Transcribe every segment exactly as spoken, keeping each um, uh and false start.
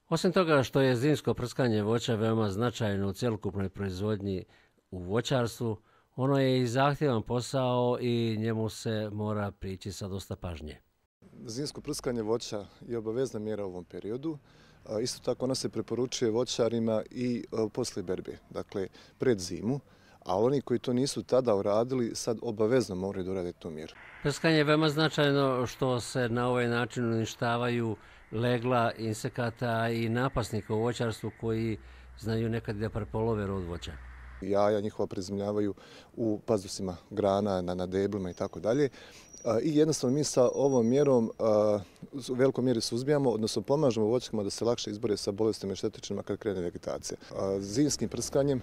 Osim toga što je zimsko prskanje voća veoma značajno u cjelokupnoj proizvodnji u voćarstvu, ono je i zahtjevan posao i njemu se mora prići sa dosta pažnje. Zimsko prskanje voća je obavezna mjera u ovom periodu. Isto tako ona se preporučuje voćarima i poslije berbe, dakle pred zimu, a oni koji to nisu tada uradili sad obavezno moraju da urade tu mjeru. Prskanje je veoma značajno što se na ovaj način uništavaju legla insekata i napasnika u voćarstvu koji znaju nekad da prepolove rod voća. Jaja njihova prezimljavaju u pazdusima grana, na, na deblima i tako dalje. I jednostavno mi sa ovom mjerom u velikoj mjeri suzbijamo, odnosno pomažemo voćkama da se lakše izbore sa bolestima i štetočinama kad krene vegetacija. Zimskim prskanjem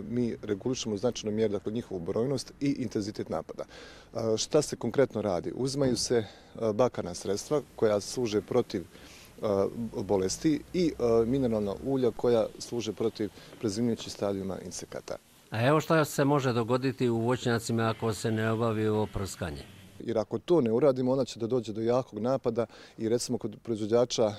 mi regulišemo značajno mjeru, dakle njihovu brojnost i intenzitet napada. Šta se konkretno radi? Uzimaju se bakarna sredstva koja služe protiv bolesti i mineralna ulja koja služe protiv prezimljujućih stadijuma insekata. A evo šta se može dogoditi u voćnjacima ako se ne obavi ovo prskanje? Jer ako to ne uradimo, onda će da dođe do jakog napada i recimo kod proizvođača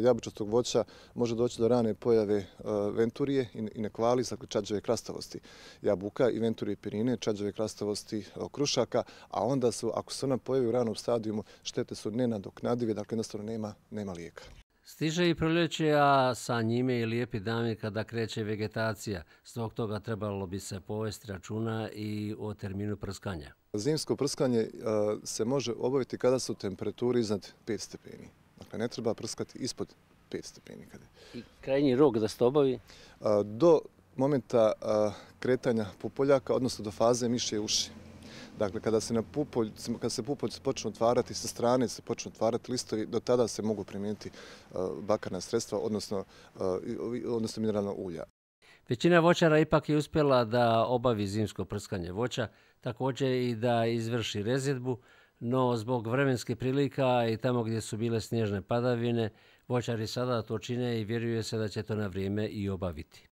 jabučastog voća može doći do rane pojave venturije i nekvali, dakle čađave krastavosti jabuka i venturije pirine, čađave krastavosti krušaka, a onda su, ako se ona pojavi u ranom stadijumu, štete su nenadoknadive, dakle jednostavno nema, nema lijeka. Stiže i proljeće, a sa njime i lijepi dani kada kreće vegetacija. Zbog toga trebalo bi se povesti računa i o terminu prskanja. Zimsko prskanje se može obaviti kada su temperaturi iznad pet stepeni. Dakle, ne treba prskati ispod pet stepeni. I krajnji rok da se to obavi? Do momenta kretanja pupoljaka, odnosno do faze mišje uši. Dakle, kada se, na pupolj, kada se pupoljci počnu otvarati sa strane, se počnu otvarati listovi, do tada se mogu primijeniti bakarna sredstva, odnosno, odnosno mineralna ulja. Većina voćara ipak je uspjela da obavi zimsko prskanje voća, također i da izvrši rezidbu, no zbog vremenskih prilika i tamo gdje su bile snježne padavine, voćari sada to čine i vjeruje se da će to na vrijeme i obaviti.